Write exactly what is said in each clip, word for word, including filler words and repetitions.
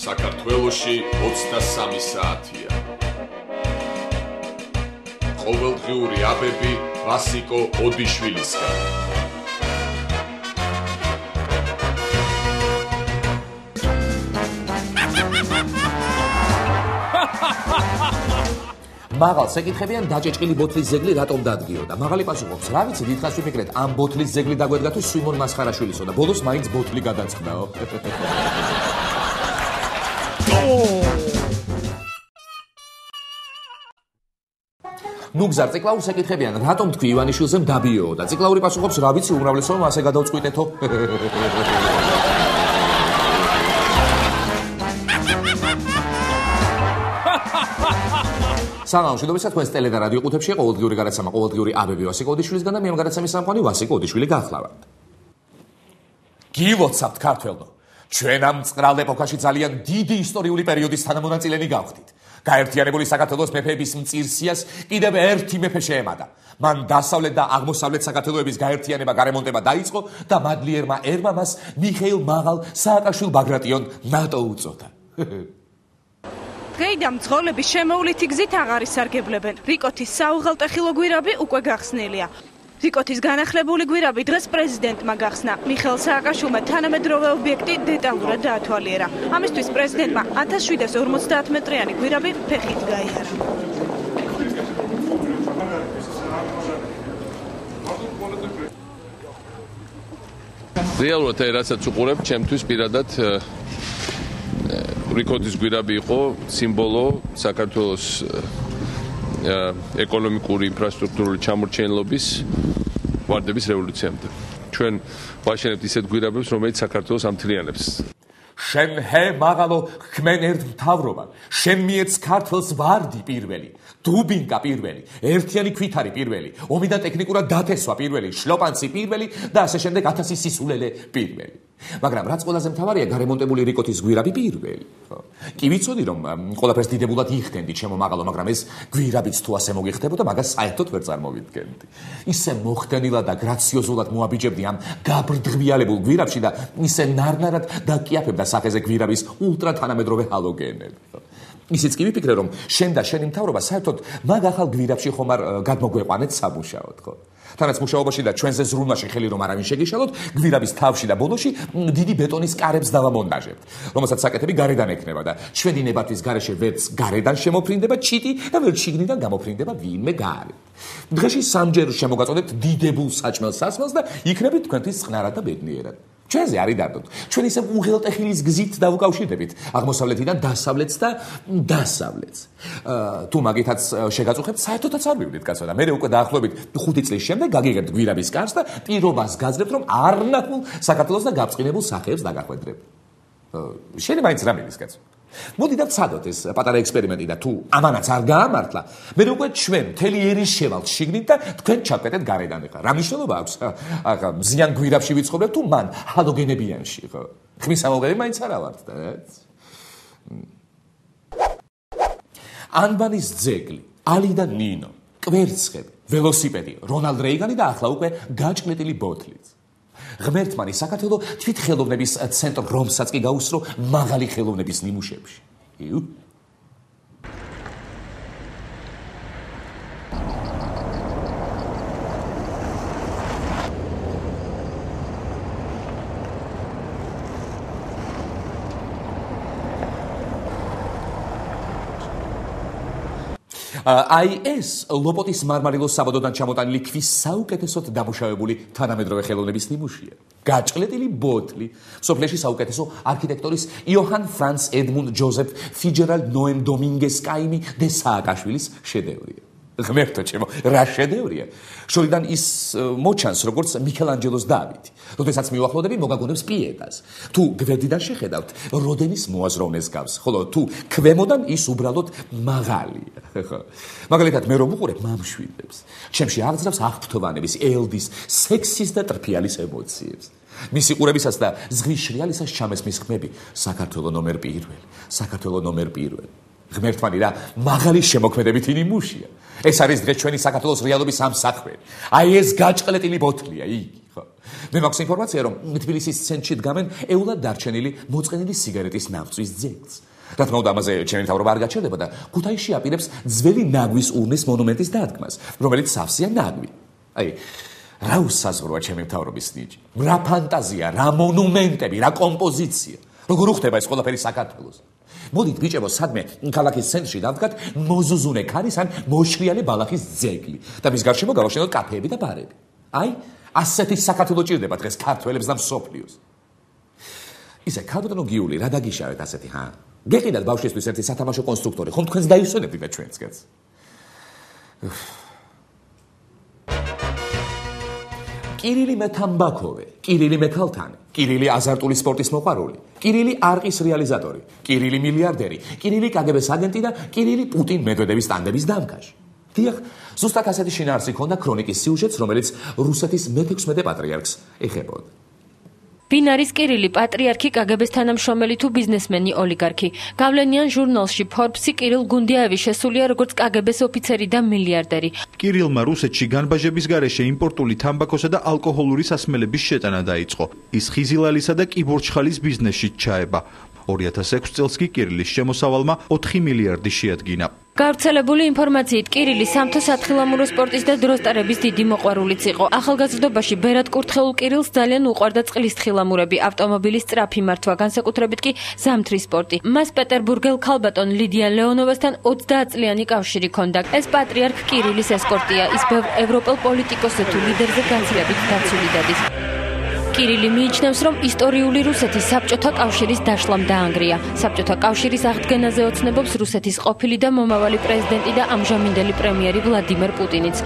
საქართველოში ოცდასამი საათია. ყოველდღიური აბები ვასიკო ოდიშვილისგან. მაღალს ეკითხებიან დაჭეჭყილი ბოთლის ზეგლი რატომ დადგიოდა. მაღალი პასუხობს, რა ვიცი, დიდხანს ვიფიქრეთ, ამ ბოთლის ზეგლი დაგვედგა თუ სვიმონ მასხარაშვილისო და ბოლოს მაინც ბოთლი გადაწყნაო. ნუ გზარ ციკლაურს ეკითხებიან, რატომ თქვი ივანიშვილზე მდაბიოო და ციკლაური პასუხობს, რა ვიცი, უმრავლესობა ასე გადავწყვიტეთო. სანამ შედობისა თქვენს ტელე და რადიო ყუთებში ყოველდღიური გადაცემა ყოველდღიური აბები ვასიკო ოდიშვილისგან და მე ამ გადაცემის სამყარო ვასიკო ოდიშვილი გახლავართ. გილოცავთ ქართველო. ჩვენ ამ წყრალ ეპოქაში ძალიან დიდი ისტორიული პერიოდის თანამონაწილენი გავხდით. გაერთიანებული საქართველოს მეფეების მწირსიას კიდევ ერთი მეფე შეემატა. მან დასავლეთ და აღმოსავლეთ საქართველოების გაერთიანება გარემონტება დაიწყო და მადლიერმა ერმა მას მიხეილ მაღალ სააკაშვილ ბაგრატიონ ნატო უწოდა. დღეიდან მძღოლების შემოვლითი გზით აღარ ისარგებლებენ. რიკოთის საუღელტეხილო გვირაბი უკვე გახსნილია. რიკოთის განახლებული გვირაბი დღეს პრეზიდენტმა გახსნა. მიხეილ სააკაშვილმა თანამედროვე ობიექტი დეტალურად დაათვალიერა. ამისთვის პრეზიდენტმა ათას შვიდსა ორმოცდაათ მეტრიანი გვირაბი ფეხით გაიარა. რეალურად რასაც უყურებ, ჩემთვის პირადად რიკოთის გვირაბი იყო სიმბოლო საქართველოს ეკონომიკური ინფრასტრუქტურული ჩამორჩენილობის ვარდების რევოლუციამდე. ჩვენ ვაშენებთ ისეთ გვირაბებს, რომელიც საქართველოს ამთლიანებს. შენ ჰე მაღალო ხმენ ერთ მთავრობა, შენ მიეც ქართლს ვარდი პირველი, დუბინკა პირველი, ერთიანი ქვითარი პირველი, ომი და ტექნიკურად დათესვა პირველი, შლოპანცი პირველი და ასე შემდეგ ათასი სისულელე პირველი. მაგრამ რაც ყველაზე მთავარია, გარემონტებული რიკოთის გვირაბი პირველი. კი ვიცოდი რომ ყველაფერს დიდებულად იხდენდი ჩემო მაღალო, მაგრამ ეს გვირაბიც თუ ასე მოგიხდებოდა, მაგას საერთოდ ვერ წარმოვიდგენდი. ისე მოხდენილა და გრაციოზულად მოაბიჯებდი ამ გაბრდღიალებულ გვირაბში და ისე ნარნარად დაკიაფებდა სახეზე გვირაბის ულტრა თანამედროვე ჰალოგენები. ისიც კი ვიფიქრე რომ შენ და შენი მთავრობა საერთოდ მაგ ახალ გვირაბში ხომ არ გადმოგვეყვანეთ სამუშაოდ, ხო? თანაც მუშაობაში და ჩვენზე ზრუნვაში ხელი რომ არავინ შეგიშალოთ, გვირაბის თავში და ბოლოში დიდი ბეტონის კარებს დავამონტაჟებთ, რომელსაც საკეთები გარედან ექნება და ჩვენი ნებართვის გარეშე ვერც გარედან შემოფრინდება ჩიტი და ვერც შიგნიდან გამოფრინდება ვინმე გარეთ. დღეში სამჯერ შემოგაწოდებთ დიდებულ საჭმელ სასმელს და იქნებით თქვენთვის წყნარად და ბედნიერად. ჩვენზე არის დარდოთ. ჩვენ ისე უღელტეხილის გზით დავუკავშირდებით აღმოსავლეთიდან დასავლეთს და დასავლეთს. თუ მაგითაც შეგაწუხებთ, საერთოდაც არ მივიდეთ კაცო და მე უკვე დაახლოებით ხუთი წლის შემდეგ გაგიღებთ გვირაბის კარს და პირობას გაძლევთ რომ არნახულ საქართველოს და გაბწყინებულ სახეებს დაგახვედრებ. შენი მაინც რა მიდის კაცო? მოდი და ვცადოთ ეს პატარა ექსპერიმენტი და თუ ამანაც არ გაამართლა, მე უკვე ჩვენ მთელი ერის შევალთ შიგნით და თქვენ ჩაკვეთეთ გარედან ახლა. რა მნიშვნელობა აქვს? ახლა მზიან გვირაბში ვიცხოვრებ თუ მან ჰალოგენებიანში, ხო? ხმის ამოღები მაინც არა ვართ და რაც. ანბანის ძეგლი, ალი და ნინო, კვერცხები, ველოსიპედი, რონალდ რეიგანი და ახლა უკვე გაჭყლეტილი ბოთლიც. ღმერთმანი საქართველო თვით ხელოვნების ცენტრ რომსაც კი გაუსწრო მაღალი ხელოვნების ნიმუშებში. იუ. აი ეს ლოპოტის მარმარილოს საბადოდან ჩამოტანილი ქვის საუკეთესოდ დამუშავებული თანამედროვე ხელოვნების ნიმუშია. გაჭყლეტილი ბოთლი, სოფლეში საუკეთესო არქიტექტორის იოჰან ფრანც ედმუნდ ჯოზეფ ფიჯერალდ ნოემ დომინგეს კაიმი დე სააკაშვილის შედევრია. ღმერთო ჩემო, რა შედევრია? შორიდან ის მოჩანს როგორც მიქელანჯელოს დავიდი. როდესაც მივახლოდები მოგაგონებს პიეტას. თუ გვერდიდან შეხედავთ, როდენის მოაზროვნეს გავს, ხოლო თუ ქვემოდან ის უბრალოდ მაღალია. მაგალითად მე რომ უყურებ მამშვიდებს, ჩემში აღძრავს აღფრთოვანების, ელდის, სექსის და ტრფიალის ემოციებს. მისი ყურებისას და ზღვის შრიალისას ჩამესმის ხმები საქართველო ნომერ პირველი, საქართველო ნომერ პირველი. ღმერთმანი რა მაღალი შემოქმედებითი ნიმუშია. ეს არის დღეს ჩვენი საქართველოს რეალობის ამსახველი. აი ეს გაჭყლეტილი ბოთლია, იგი. ხო. მე მაქვს ინფორმაცია, რომ თბილისის ცენტრში დგამენ ეულად დარჩენილი მოწყენილი სიგარეტის ნავწვის ძეგლს. რა თქმა უნდა, ამაზე ჩემი მთავრობა არ გაჩერდება და ქუთაისში აპირებს ძველი ნაგვის ურნის მონუმენტის დადგმას, რომელიც სავსეა ნაგვი. აი, რა უსაზღვროა ჩემი მთავრობის ნიჭი. რა ფანტაზია, რა მონუმენტები, რა კომპოზიცია. როგორ უხდება ეს ყველაფერი საქართველოს? მოდით ბიჭებო, სადმე ქალაქის ცენტრში დავდგათ მოზუზუნე ქარის ან მოშრიალი ბალახის ძეგლი და მის გარშემო გავაშენოთ კაფეები და ბარები. აი, ასეთი საქართველო ჭირდება დღეს ქართველებს და მსოფლიოს. ისე ქალბატონო გიული, რა დაგიშავეთ ასეთი, ჰა? გეყიდათ ბავშვისთვის ერთი სათამაშო კონსტრუქტორი, ხომ თქვენს დაისვენებთ და ჩვენცგანს. კირილი მეთამბაქოვე, კირილი მეთალთანი, კირილი აზარტული სპორტის მოყვარული, კირილი არყის რეალიზატორი, კირილი მილიარდერი, კირილი კაგებეს აგენტი და კირილი პუტინ მედვედევის ტანდემის დამკაში. დიახ, ზუსტად ასეთი შინაარსი ჰქონდა ქრონიკის სიუჟეტს, რომელიც რუსეთის მეთექვსმეტე პატრიარქს ეხებოდა. ვინ არის კირილი, პატრიარქი, კაგებეს თანამშრომელი თუ ბიზნესმენი, ოლიგარქი? გავლენიან ჟურნალში Forbes-ი კირილ გუნდიაევი შესულია როგორც კაგებეს ოფიცერი და მილიარდერი. კირილმა რუსეთში განბაჟების გარეშე იმპორტული თამბაქოსა და ალკოჰოლური სასმელების შეტანა დაიწყო. ის ხიზილალისა და კიბორჩხალის ბიზნესში ჩაება. ორი ათას ექვსი წელს კი კირილის შემოსავალმა ოთხი მილიარდი შეადგინა. გავრცელებული ინფორმაციით კირილი სამთო სათხილამურო სპორტის და დროსტარების დიდი მოყვარულიც იყო. ახალგაზრდობაში ბერად კურთხეულ კირილს ძალიან უყვარდა წყლის თხილამურები, ავტომობილის სწრაფი მართვა, განსაკუთრებით კი ზამთრის სპორტი. მას პეტერბურგელ ქალბატონ ლიდია ლეონოვასთან ოცდაათწლიანი კავშირი ჰქონდა. ეს პატრიარქ კირილის ესკორტია, ის ბევრ ევროპელ პოლიტიკოსზე თუ ლიდერზე განცილებით დაცული დადის. კირილი მიიჩნევს, რომ ისტორიული რუსეთის საბჭოთა კავშირის დაშლამ დაანგრია. საბჭოთა კავშირის აღდგენაზე ოცნებობს რუსეთის ყოფილი და მომავალი პრეზიდენტი და ამჟამინდელი პრემიერი ვლადიმერ პუტინიც.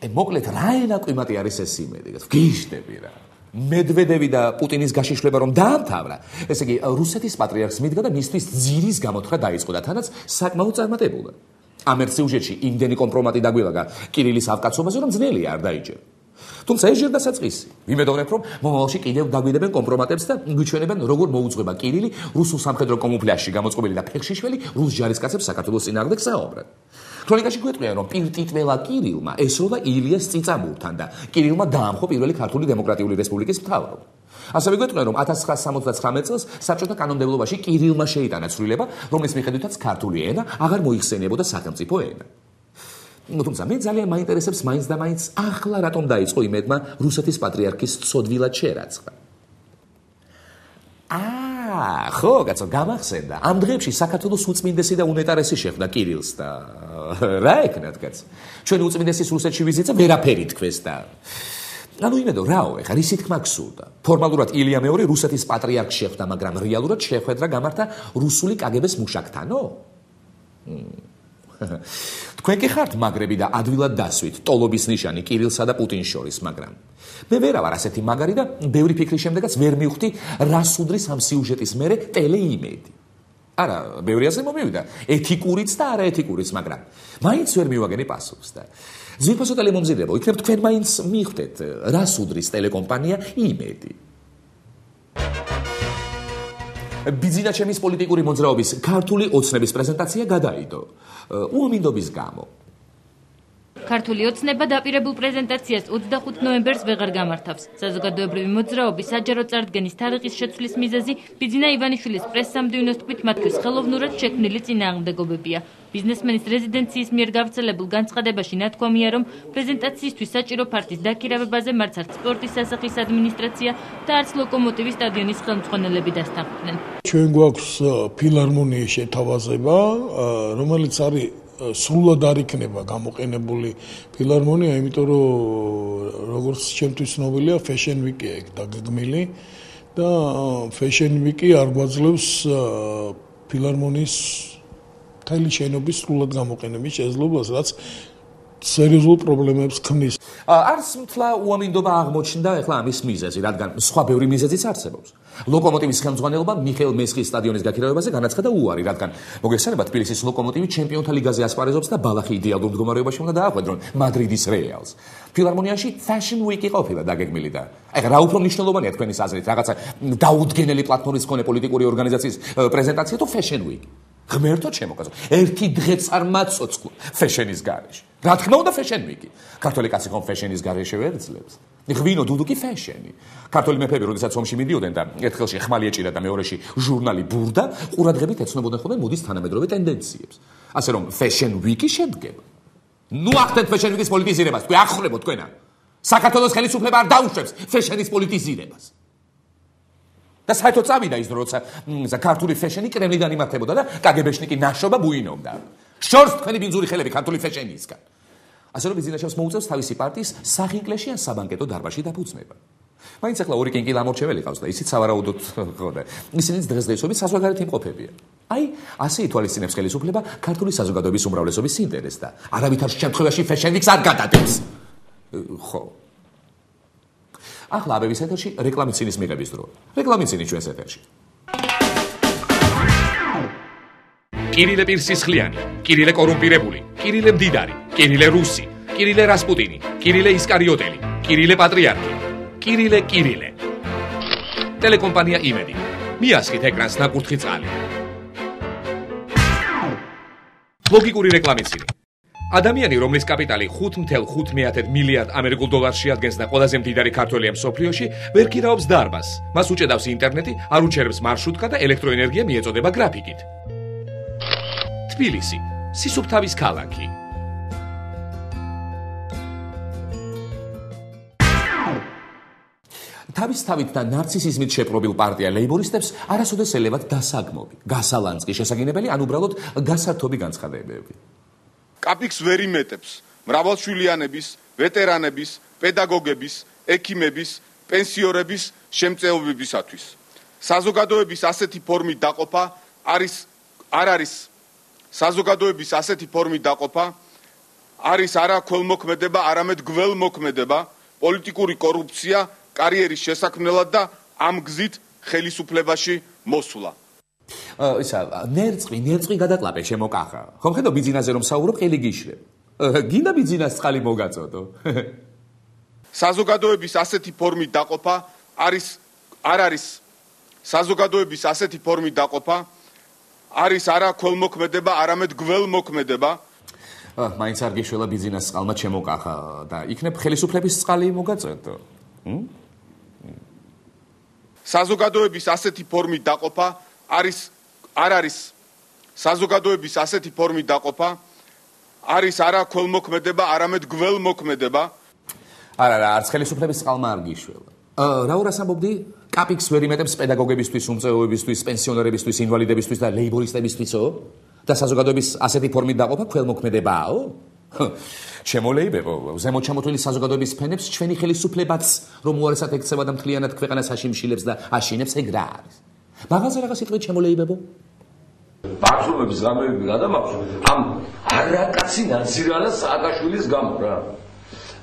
მოკლედ, რა ენა ყიმატი არის ეს იმედი? გიშდები რა. მედვედევი და პუტინის გაშიშვლება რომ დაამთავრა, ესე იგი რუსეთის პატრიარქს მიდგა და მისთვის ძირის გამოთხრა დაიწყო და თანაც საკმაოდ წარმატებულა. ამ ერთ სიუჟეტში იმდენი კომპრომატი დაგვილაგა კირილის ავკაცობაზე, რომ ძნელია არ დაიჯერა. თუმცა ეს ჯერ დასაწყისი. ვიმედოვნებ, რომ მომავალში კიდევ დაგვიდებენ კომპრომატებს და გვიჩვენებენ, როგორ მოუძღვება კირილი რუსულ სამხედრო კამუფლაჟში გამოწყობილი და ფეხშიშველი რუს ჯარისკაცებს საქართველოს წინააღმდეგ საუბრად. ქრონიკაში გვეტყვიან, რომ პირტიტველა კირილმა ესროლა ილიას წიწამურთან და კირილმა დაამხო პირველი ქართული დემოკრატიული რესპუბლიკის მთავრობა. ასევე გვეტყვიან, რომ ათას ცხრაასი სამოცდაცხრამეტ წელს საბჭოთა კანონმდებლობაში კირილმა შეიტანა ცვლილება, რომლის მიხედვითაც ქართული ენა აღარ მოიხსენიებოდა სახელმწიფო ენა. თუმცა მე ძალიან მაინტერესებს მაინც და მაინც ახლა რატომ დაიწყო იმედმა რუსეთის პატრიარქის ცოდვილად შერაცხა. აა, ხო, კაცო, გამახსენდა. ამ დღეებში საქართველოს უწმინდესი და უნეტარესი შეხვდა კირილს და რა ეკნათ, კაცო? ჩვენი უწმინდესის რუსეთში ვიზიტზე ვერაფერი თქვეს და ანუ იმედო, რაო, ეხლა რისი თქმა გსურდა. ფორმალურად ილია მეორე რუსეთის პატრიარქს შეხვდა, მაგრამ რეალურად შეხვედრა გამართა რუსული კაგებეს მუშაკთანო? თქვენ კი ხართ მაგრები და ადვილად დასვით ტოლობის ნიშანი კირილსა და პუტინს შორის, მაგრამ მე ვერა ვარ ასეთი მაგარი და ბევრი ფიქრის შემდეგაც ვერ მივხვდი რა სუდრის ამ სიუჟეტის მერე ტელეიმედი. არა, ბევრი ასე მომივიდა, ეთიკურიც და არაეთიკურიც, მაგრამ მაინც ვერ მივაგენი პასუხს და ძვირფასო ტელემომზიდებო, იქნებ თქვენ მაინც მიხვდეთ რა სუდრის ტელეკომპანია იმედი. ბიძინა ჩემის პოლიტიკური მოძრაობის ქართული ოცნების პრეზენტაცია გადაიდო უამინდობის გამო. ქართული ოცნება დაპირებულ პრეზენტაციას ოცდახუთი ნოემბერს ვეღარ გამართავს. საზოგადოებრივი მოძრაობის საჯარო წარდგენის თარიღის შეცვლის მიზეზი ბიძინა ივანიშვილის პრესსამდივნოს თქმით მათთვის ხელოვნურად შექმნილი წინააღმდეგობებია. ბიზნესმენის რეზიდენციის მიერ გავრცელებულ განცხადებაში ნათქვამია, რომ პრეზენტაციისთვის საჭირო ფართის დაქირავებაზე მარც არც სპორტის სასახლის ადმინისტრაცია და არც ლოკომოტივის სტადიონის ხელმძღვანელები დასთანხმდნენ. ჩვენ გვაქვს ფილარმონიის შეთავაზება, რომელიც არის სრულად არ იქნება გამოყენებული ფილარმონია, იმიტომ რომ როგორც ჩემთვის ცნობილია, Fashion Week-ია ეგ დაგეგმილი და Fashion Week-ი არ გვაძლევს ფილარმონიის მთელი შენობის სრულად გამოყენების შესაძლებლობას, რაც სერიოზულ პრობლემებს ქმნის. არც მთლა უამინდობა აღმოჩნდა ეხლა ამის მიზეზი, რადგან სხვა ბევრი მიზეზიც არსებობს. ლოკომოტივის ხელმძღვანელობა მიხეილ მესხის სტადიონის გაქირავებაზე განაცხადა უარი, რადგან მოგეხსენება თბილისის ლოკომოტივი ჩემპიონთა ლიგაზე ასპარეზობს და ბალახი იდეალურ მდგომარეობაში უნდა დაახვედრონ მადრიდის რეალს. ფილარმონიაში Fashion Week-ი ყოფილა დაგეგმილი და ეხლა რა უფრო მნიშვნელოვანია თქვენის აზრით, რაღაცა დაუდგენელი პლატფორმის მქონე პოლიტიკური ორგანიზაციის პრეზენტაცია თუ Fashion Week? ღმერთო ჩემო კაცო, ერთი დღეც არ მაწოცხლო ფეშენის გარეშე. რა თქმა უნდა ფეშენ ვიკი. ქართველი კაცი ხომ ფეშენის გარეშე ვერ ძლებს. ღვინო დუდუკი ფეშენი. ქართველი მეფეები, როდესაც ომში მიდიოდნენ და ერთ ხელში ხმალი ეჭირა და მეორეში ჟურნალი ბურდა, ყურადღებით ეცნობოდნენ ხოლმე მოდის თანამედროვე ტენდენციებს. ასე რომ ფეშენ ვიკი შედგება. ნუ ახდენთ ფეშენ ვიკის პოლიტიზირებას, თქვენ აღხრებოთ თქვენა. საქართველოს ხელისუფლება არ დაუშვებს ფეშენის პოლიტიზირებას. და საერთოდ წავიდა ის დრო, როცა ქართული ფეშენი კრემლიდან იმართებოდა და კაგებეშნიკი ნაშობა ბუინობდა. შორს თქვენი ბინძური ხელები ქართული ფეშენისგან. ასე რომ ბიზნესებს მოუწევს თავისი პარტიის სახინკლეში ან საბანკეტო დარბაზში დაფუძნება. მაინც ახლა ორი კინკი ლამორჩეველი ყავს და ისიც სავარაუდოდ ხოდა. ისინიც დღესდღეობით საზოგადოებრივი იმყოფებიან. აი, ასე ითვალისწინებს ხელისუფლება ქართული საზოგადოების უმრავლესობის ინტერესს და არავითარ შემთხვევაში ფეშენიკს არ გადადებს. ხო. ახლა აბების ეთერში რეკლამიცინის მიღების დროა. რეკლამიცინი ჩვენს ეთერში. კირილე პირსისხლიანი, კირილე კორუმპირებული, კირილე მდიდარი, კირილე რუსი, კირილე რასპუტინი, კირილე ისკარიოტელი, კირილე პატრიარქი, კირილე კირილე. ტელეკომპანია იმედი. მიასხით ეკრანს ნაკურთხი წყალი. ლოგიკური რეკლამიცინი. ადამიანი, რომლის კაპიტალი ხუთ ათეული ხუთ მილიარდ ამერიკულ დოლარს შეადგენს და ყველაზე მდიდარი ქართველია მსოფლიოში, ვერ ქირაობს დარბაზს. მას უჭედავს ინტერნეტი, არ უჩერებს მარშრუტკა და ელექტროენერგია მიეწოდება გრაფიკით. თბილისი, სისუფთავის ქალაქი. თავისთავით და ნარცისიზმით შეპრობილ პარტია ლეიბორისტებს არასოდეს ელევათ დასაგმობი, გასალანძღი შესაგინებელი ან უბრალოდ გასართობი განცხადებები. კაპიქს ვერ იმეტებს მრავალშვილიანების, ვეტერანების, პედაგოგების, ექიმების, პენსიორების შემწეობებისათვის. საზოგადოების ასეთი ფორმით დაყოფა არის არ არის საზოგადოების ასეთი ფორმით დაყოფა არის არა ქველმოქმედება, არამედ გველმოქმედება, პოლიტიკური კორუფცია კარიერის შესაქმნელად და ამ გზით ხელისუფლებაში მოსვლა. ისა, ნერწყვი, ნერწყვი გადაკლაპე ჩემო კახა. ხომ ხედავ ბიძინაზე რომ საუბრობ, ყელი გიშრებ. გინდა ბიძინას წყალი მოგაწოდო. საზოგადოების ასეთი ფორმით დაყოფა არის არ არის საზოგადოების ასეთი ფორმით დაყოფა არის არა ქველმოქმედება, არამედ გველმოქმედება. აა, მაინც არ გიშველა ბიძინას წყალმა ჩემო კახა და იქნებ ხელისუფლების წყალი მოგაწოდო. ჰმ? საზოგადოების ასეთი ფორმით დაყოფა არის არ არის საზოგადოების ასეთი ფორმით დაყოფა არის არა ქველმოქმედება, არამედ გველმოქმედება. არა, არა, არც ხელისუფლების წყალმა არ გიშველა. აა, რა ურას ამბობდი? კაპიქს ვერ იმეტებს პედაგოგებისთვის, უმწეოებისთვის, პენსიონერებისთვის, ინვალიდებისთვის და ლეიბორისტებისთვისო? და საზოგადოების ასეთი ფორმით დაყოფა ქველმოქმედებაო? შემოლეიბებო, ზემოთ ჩამოთვლილი საზოგადოების ფენებს ჩვენი ხელისუფლებაც რომ უარესად ექცევა და მთლიანად ქვეყანას აშიმშილებს და აშინებს, ეგ რა არის? მაღალზე რაღაც სიტყვით შემოლეიბებო? ბათუმების გამეები გადამაქვს ამ არაკაცი ნაცირალა სააკაშვილის გამო რა.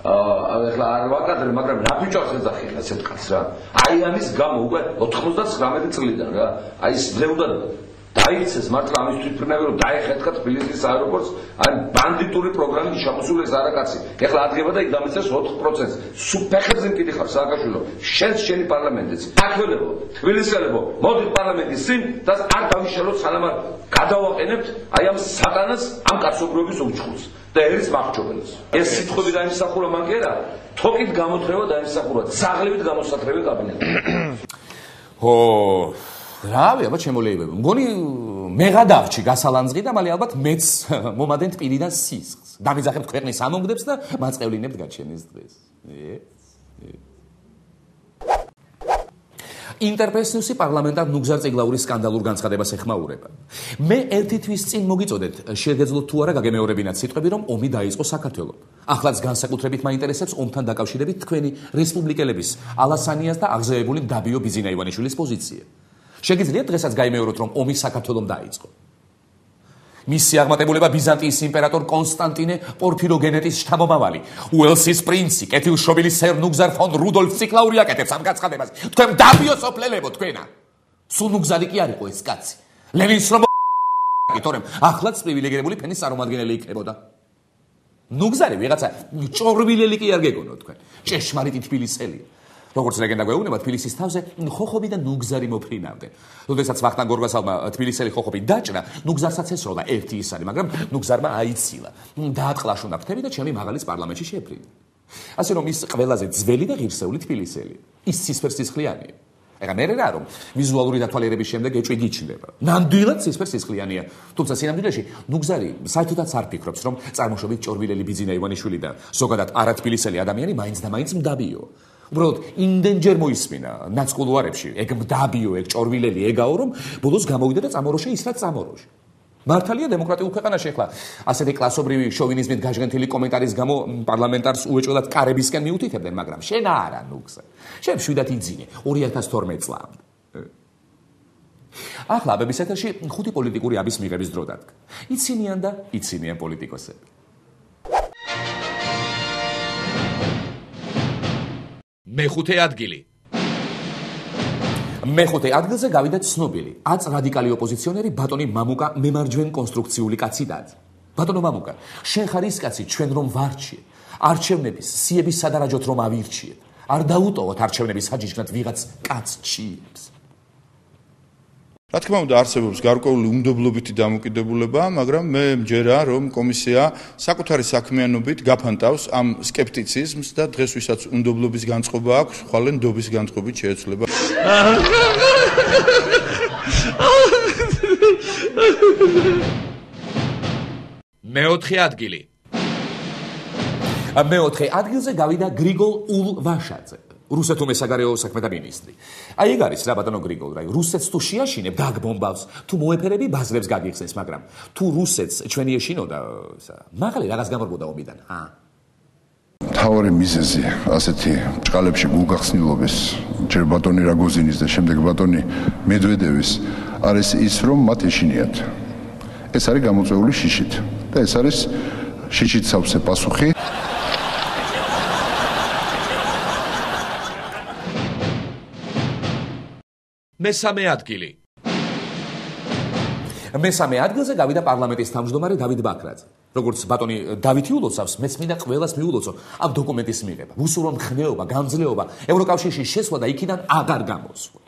აა ახლა არ ვაკადრე, მაგრამ რა ბიჭოს ეძახიან ასეთ კაცს რა. აი ამის გამო უკვე ოთხმოცდათხრამეტი წლიდან რა. აი ეს ძლევდა დაიქცეს მართლა ამის თვითმფრინავი რომ დაეხეთქა თბილისის აეროპორტს, აი ბანდიტური პროგრამით შემოსული ეს არაკაცი. ეხლა ადგება და იქ დამეცეს ოთხ პროცენტს. სუფეხებზე მკითხავს სააკაშვილო, შენს შენი პარლამენტიც. აქველებო, თბილისელებო, მოდით პარლამენტის წინ და არ დავიშალოთ სანამ არ გადავაყენებთ აი ამ სატანას, ამ კაცობრიობის უჩხურს და ერის მახრჩობელს. ეს სიტყვები დაიმსახურა მან კი არა, თოკით გამოთხრება დაიმსახურა, ძაღლებით გამოსათრები კაბინეტი. ო რავი, აბა შემოლეიბებო. მგონი მეღადაღჩი გასალანძღი და მალე ალბათ მეც მომადენთ პირიდან სისხლს. დამიძახებთ ქვეყნის ამონგდებს და მაწევლინებთ გაჩენის დღეს. ინტერფეის ნიუსი პარლამენტარ ნუგზარ წიგლაურის სკანდალურ განცხადებას ეხმაურება. მე ერთი თვის წინ მოგიწოდეთ, შეგეძლოთ თუ არა გაგემეორებინათ სიტყვები, რომ ომი დაიწყო საქართველოს. ახლაც განსაკუთრებით მაინტერესებს ომთან დაკავშირებით თქვენი რესპუბლიკელების ალასანიას და აღზევებული დაბიო ბიზინა ივანიშვილის პოზიცია. შეგიძლიათ დღესაც გაიმეოროთ, რომ ომი საქართველოს დაიწყო. მისი აღმატებულება ბიზანტიის იმპერატორ კონსტანტინე პორფიროგენეტის შთამომავალი, უელსის პრინცი, კეთილშობილი სერ ნუგზარ ფონ რუდოლფ ციკლაური აკეთებს ამ განცხადებას. თქვენ დაბიოსოფლელებო თქვენა. სულ ნუგზარი კი არ იყო ეს კაცი. ლენინს რომ თორემ ახლაც პრივილეგირებული ფენის წარმომადგენელი იქნებოდა. ნუგზარი ვიღაცა ჭორვილელი კი არ გეგონო თქვენ. ჭეშმარიტი თბილისელია. როგორც ლეგენდა გვეუბნება, თბილისის თავზე ხოხობი და ნუგზარი მოფრინავდნენ. როდესაც ვახტანგ გორგასალმა თბილისელი ხოხობი დაჭრა, ნუგზარსაც ესროლა ერთი ისარი, მაგრამ ნუგზარმა აიცილა. დაატყლაშუნა ფრთები და ჩემი მაღალის პარლამენტში შეფრინა. ასე რომ ის ყველაზე ძველი და ღირსეული თბილისელი. ის ცისფერსისხლიანია. ეხლა მე რა რომ ვიზუალური დათვალიერების შემდეგ ეჭვი გიჩნდება. ნამდვილად ცისფერსისხლიანია. თუმცა სინამდვილეში ნუგზარი საერთოდაც არ ფიქრობს, რომ წარმოშობით ჭორვილელი ბიძინა ივანიშვილი და ზოგადად არათბილისელი ადამიანი მაინც და მაინც მდაბიო. უბრალოდ იმდენჯერ მოისმინა ნაცკულუარებში, ეგ მდაბიო, ეგ ჭორვილელი ეგაო, რომ ბოლოს გამოვიდა და წამოროშე ის რაც წამოროშე. მართალია დემოკრატიულ ქვეყანაში ახლა ასეთი კლასობრივი შოვინიზმით გაჟღენთილი კომენტარის გამო პარლამენტარს უეჭველად კარებისკენ მიუთითებდნენ, მაგრამ შენ არა ნუგზა. შენ შვიდად იძინე ორი ათას თორმეტ წლამდე. ახლა აბების ეთერში ხუთი პოლიტიკური აბის მიღების დრო დადგა. იცინიან და იცინიან პოლიტიკოსები. მეხუთე ადგილი. მეხუთე ადგილზე გავიდა ცნობილი, აც რადიკალი ოპოზიციონერი ბატონი მამუკა მემარჯვენ კონსტრუქციული კაცი დად. ბატონო მამუკა, შენ ხარ ის კაცი, ჩვენ რომ ვარჩიე. არჩევნების სიების სადარაჯოთ რომ ავირჩიეთ. არ დაუტოვოთ არჩევნების საჯიჯნად ვიღაც კაც ჩიებს. რა თქმა უნდა, არსებობს გარკვეული უნდობლობითი დამოკიდებულება, მაგრამ მე მჯერა, რომ კომისია საკუთარი საქმიანობით გაფანტავს ამ სკეპტიციზმს და დღეს ვისაც უნდობლობის განწყობა აქვს, ხვალე ნდობის განწყობით შეეცვლება. მეოთხე ადგილი. მეოთხე ადგილზე გავიდა გრიგოლ ულვაშაძე. რუსეთუმე საგარეო საქმეთა მინისტრი. აი ეგ არის რა ბატონო გრიგოლ, რა რუსეთს თუ შეაშინებ, დაგბომბავს, თუ მოეფერები ბაზრებს გაგიხსენს, მაგრამ თუ რუსეთს ჩვენი ეშინო და მაღალი რაღაც გამორბოდა ომიდან, ჰა? მთავარი მიზეზი ასეთი ჭყალებში გულგახსნილობის, ჯერ ბატონი რაგოზინის და შემდეგ ბატონი მედვედევის არის ის, რომ მათ ეშინიათ. ეს არის გამოწვეული შიშით და ეს არის შიშით სავსე პასუხი. მესამე ადგილი. მესამე ადგილზე გავიდა პარლამენტის თავმჯდომარე დავით ბაქრაძე. როგორც ბატონი დავითი ულოცავს, მეც მინდა ყველას მიულოცო ამ დოკუმენტის მიღება. ვუსურვო მხნეობა, გამძლეობა, ევროკავშირში შესვლა და იქიდან აღარ გამოსვლა.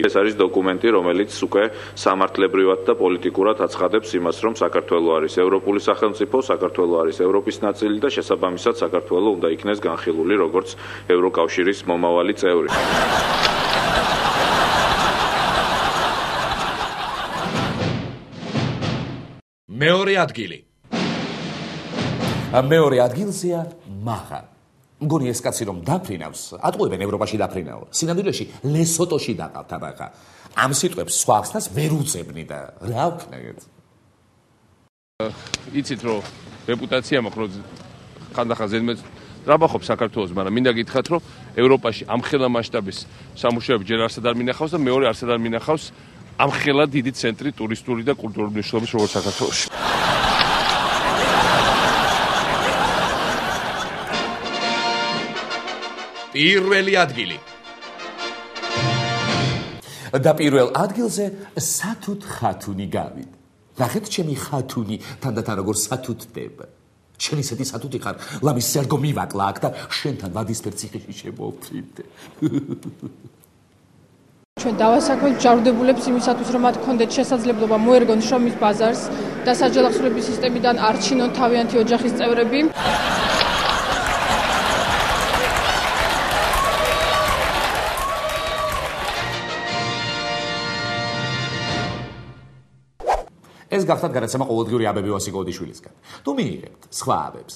ეს არის დოკუმენტი, რომელიც უკვე სამართლებრივად და პოლიტიკურად აცხადებს იმას, რომ საქართველო არის ევროპული სახელმწიფო, საქართველო არის ევროპის ნაწილი და შესაბამისად საქართველო უნდა იქნეს განხილული როგორც ევროკავშირის მომავალი წევრი. მეორე ადგილი. მეორე ადგილზეა მაღა. მგონი ეს კაცი რომ დაფრინავს, ატყუებენ ევროპაში დაფრინაო. სინამდვილეში ლესოტოში დაყავთ აბახა. ამ სიტყვებს სხვა ხსნას ვერ უძებნი და რა ვქნათ? იცით რომ რეპუტაცია მაქვს რომ ხანდახან ზედმეტ ტრაბახობ საქართველოს, მაგრამ მინდა გითხრათ რომ ევროპაში ამხელა მასშტაბის სამუშაოები ჯერ არსად არ მინახავს და მეორე არსად არ მინახავს ამხელა დიდი ცენტრი ტურისტული და კულტურული მნიშვნელობის როგორც საქართველოში. პირველი ადგილი. და პირველ ადგილზე სათუთ ხათუნი გავიდა. ნახეთ ჩემი ხათუნი თანდათან როგორ სათუთდება. შენ ისეთი სათუთი ხარ, ლამის სერგო მივაკლა აქ და შენთან ვადისფერ ციხეში შემოვფრინდე. ჩვენ დავასაქმეთ ჯავრდებულებს იმისათვის, რომ მათ კონდეთ შესაძლებლობა მოერგონ შრომის ბაზარს და საჯელახსოვრების სისტემიდან არჩინონ თავიანთი ოჯახის წევრები. ეს გახდათ გადაცემა ყოველდღიური აბები ვასიკო ოდიშვილისგან. თუ მიიღებთ სხვა აბებს